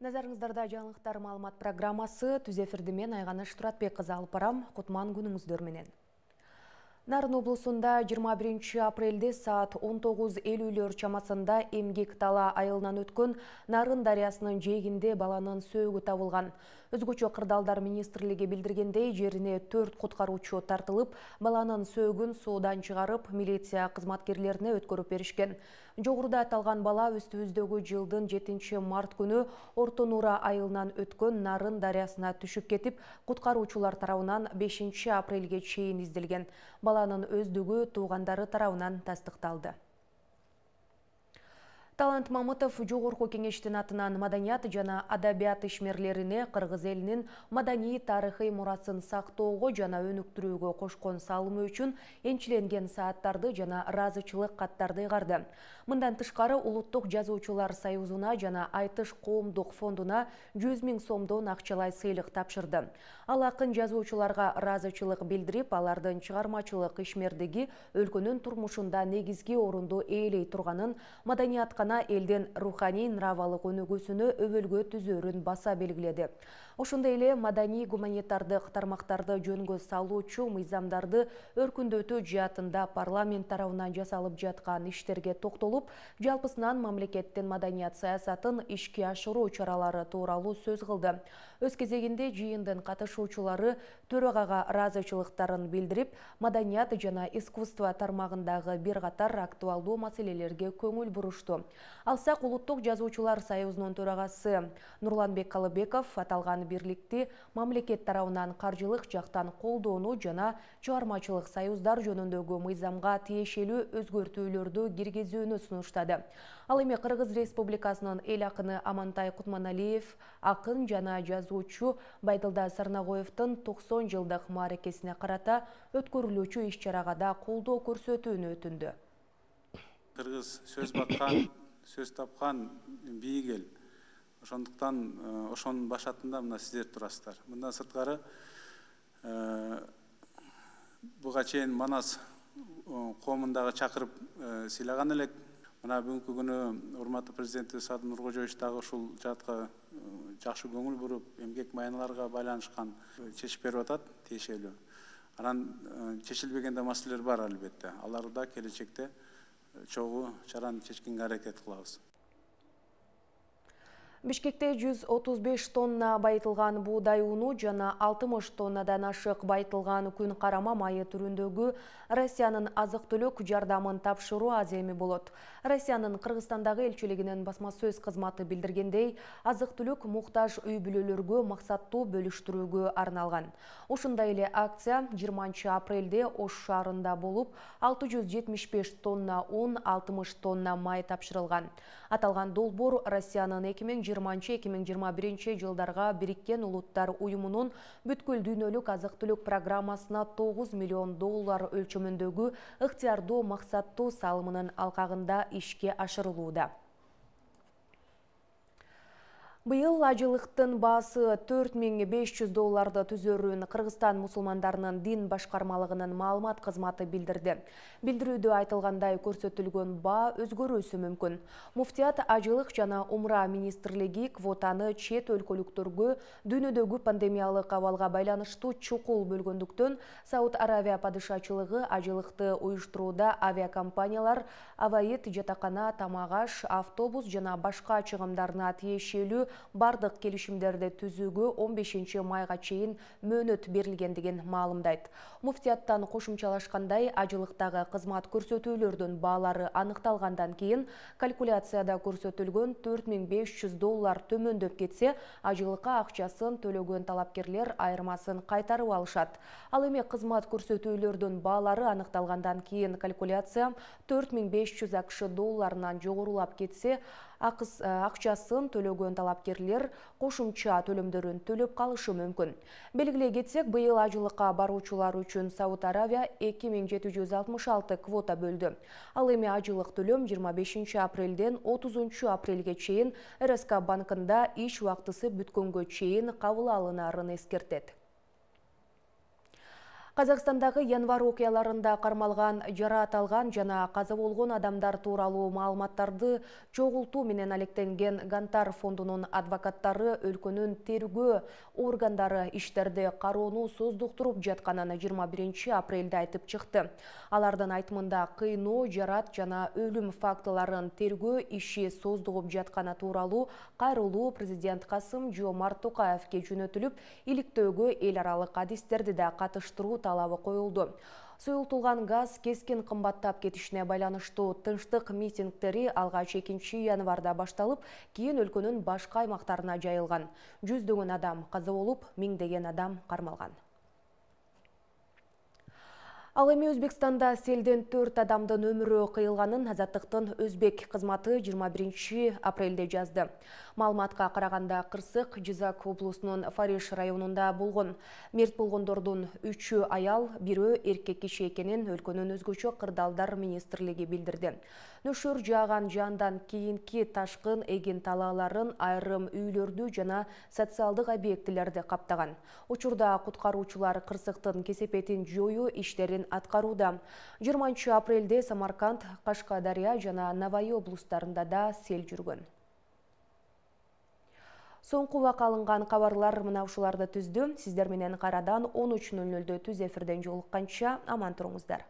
Назарыңыздарда жаңылыктар маалымат программасы түз эфирди мен Айганыш Туратбек кызы алып барам. Кутман күнүңүздөр менен. Нарын облусунда 21 апрелде саат 19:50 чамасында Эмгек Тала айылынан өткөн Нарын дарыясынын жээгинде баланын сөөгү табылган. Өзгөчө кырдаалдар министрлиги билдиргендей, жерине 4 куткаруучу тартылып, баланын сөөгүн суудан чыгарып, милиция кызматкерлерине өткөрүп беришкен. Жогоруда аталган бала үстүбүздөгү жылдын 7 март күнү Орто Нуура айылынан өткөн Нарын дарыясына түшүп кетип, куткаруучулар тарабынан 5 апрелге чейин изделген. Баланын өздүгү туугандары тарабынан тастыкталды. Талант Мамытов жогорку кеңештин атынан маданият жана адабият ишмерлерине кыргыз элинин маданий тарыхый мурасын сактоого жана өнүктүрүүгө кошкон салымы үчүн энчиленген сааттарды жана ыраазычылык каттарды ыйгарды. Мындан тышкары Улуттук жазуучулар союзуна жана Айтыш коомдук фондуна 100 000 сомдон акчалай сыйлык тапшырды. Ал акын жазуучуларга ыраазычылык билдирип, алардын чыгармачылык ишмердиги өлкөнүн турмушунда негизги орунду ээлей турганын, маданиятка элдин руханий нравалык өнүгүүсүнө өбөлгө түзөрүн баса белгиледи. Ошондой эле маданий гуманитардык тармактарды жөнгө салуучу мыйзамдарды өркүндөтүү жаатында парламент тарабынан жасалып жаткан иштерге токтолуп, жалпысынан мамлекеттин маданият саясатын ишке ашыруу чаралары тууралуу сөз кылды. Өз кезегинде жыйындын катышуучулары төрагага ыраазычылыктарын билдирип, маданият жана искусство тармагындагы бир катар актуалдуу маселелерге көңүл бурушту. Алсак, Улуттук жазуучулар союзунун төрагасы Нурланбек Калыбеков аталган бирликти мамлекет тарабынан каржылык жактан колдоону жана чыгармачылык союздар жөнүндөгү мыйзамга тиешелүү өзгөртүүлөрдү киргизүүнү сунуштады. Ал эми Кыргыз Республикасынын эл акыны Амантай Кутманалиев, акын жана жазуучу Байдылда Сарнагоевдун 90 жылдык мааракесине карата өткөрүлүүчү иш-чарага да колдоо көрсөтүүнү өтүндү. Кыргыз сөз баккан, сөз тапкан бийик эл. Ошондуктан ошонун башатында мына сиздер турасыздар. Мындан сырткары буга чейин Манас коомундагы чакырып сыйлаган элек. Мына бүгүнкү күнү урматтуу президенти Садыр Нуркожоевич дагы ушул жаатка жакшы көңүл буруп, эмгек майыналарга байланышкан чечип берип атат тиешелүү. Анан чечилбеген да маселелер бар албетте. Аларды да келечекте чогуу чараны чечкенге аракет кылабыз. Бишкекте 135 тонна байытылган буудай уну жана 60 тоннадан ашык байытылган күн карама майы түрүндөгү Россиянын азык-түлүк жардамын тапшыруу аз эми болот. Россиянын Кыргызстандагы элчилигинин басма сөз кызматы билдиргендей, азык-түлүк муктаж үй бүлөлөргө максаттуу бөлүштүрүүгө арналган. Ушундай эле акция 20 апрелде Ош шаарында болуп, 675 тонна un, 60 тонна май тапшырылган. Аталган долбоор Россиянын 2020-2021 жылдарга Бириккен Улуттар уюмунун бүткүл дүйнөлүк азык-түлүк программасына $9 миллион өлчөмүндөгү ыктыярдуу максаттуу салымынын алкагында ишке ашырылууда. Быйыл ажылыктын баасы $4500 түзөрүн Кыргызстан мусулмандарынын дин башкармалыгынын маалымат кызматы билдирди. Билдирүүдө айтылгандай, көрсөтүлгөн баа өзгөрүүсү мүмкүн. Муфтият ажылык жана умра министрлиги квотаны чет өлкөлүктөргө дүйнөдөгү пандемиялык абалга байланыштуу чукул бөлгөндүктөн, Сауд Аравия падышачылыгы ажылыкты уюштурууда авиакомпаниялар аваит, жатакана, тамак-аш, автобус жана башка чыгымдарына тиешелүү бардык келишимдерди түзүүгө 15 майга чейин мөөнөт берилгендигин маалымдайт. Муфтияттан кошумчалашкандай, ажылыктагы кызмат көрсөтүүлөрдүн баалары аныкталгандан кийин калькуляцияда көрсөтүлгөн $4500 төмөндөп кетсе, ажылыкка акчасын төлөгөн талапкерлер айырмасын кайтарып алышат. Ал эми кызмат көрсөтүүлөрдүн баалары аныкталгандан кийин калькуляция $4500 жогорулап кетсе, акчасын төлөгөн талапкерлер кошумча төлөмдөрүн төлөп калышы мүмкүн. Белгилей кетсек, быйыл ажылыкка баруучулар үчүн Сауд Аравия 2766 квота бөлдү. Ал эми ажылык төлөм 25 апрелден 30 апрелге чейин РСК банкында иш убактысы бүткөнгө чейин кабыл алынарын эскертет. Казакстандагы январь окуяларында кармалган, жараат алган жана каза болгон адамдар тууралуу маалыматтарды чогултуу менен алектенген Гантар фондунун адвокаттары өлкөнүн тергөө органдары иштерди кароону создуктуруп жатканын 21 апрелде айтып чыкты. Алардын айтымында кыйноо, жараат жана өлүм фактыларын тергөө иши создугуп жатканы тууралуу кайрылуу президент Касым-Жомарт Токаевке жөнөтүлүп, иликтөөгө эл аралык адистерди да катыштыруу талабы коюлду. Суюлтулган газ кескин кымбаттап кетишине байланыштуу тынчтык митингдери алгач 2 январда башталып, кийин өлкөнүн башка аймактарына жайылган. Жүздөгөн адам каза болуп, миңдеген адам кармалган. Ал эми Өзбекстанда селден 4 адамдын өмүрү кыйылганын Азаттыктын Өзбек кызматы 21 апрелде жазды. Маалыматка караганда кырсык Жизак облусунун Фариш районунда болгон. Мерт болгондордун 3-ü аял, 1-өө эркек киши экенин өлкөнүн өзгөчө кырдаалдар министрлиги билдирди. Нөшөр жааган жандан кийинки ташкын эгин талааларын, айрым үйлөрдү жана социалдык объектилерди каптаган. Учурда куткаруучулар кырсыктын кесепетин жоюу иштерин аткарууда. 20 апрелде Самарканд, Кашкадария жана Навай облустарында да сел жүргөн. Соңку убакка алынган кабарлар мына ушуларды түздү. Сиздер менен кайрадан 13:00 түз эфирден жолукканча аман туруңуздар.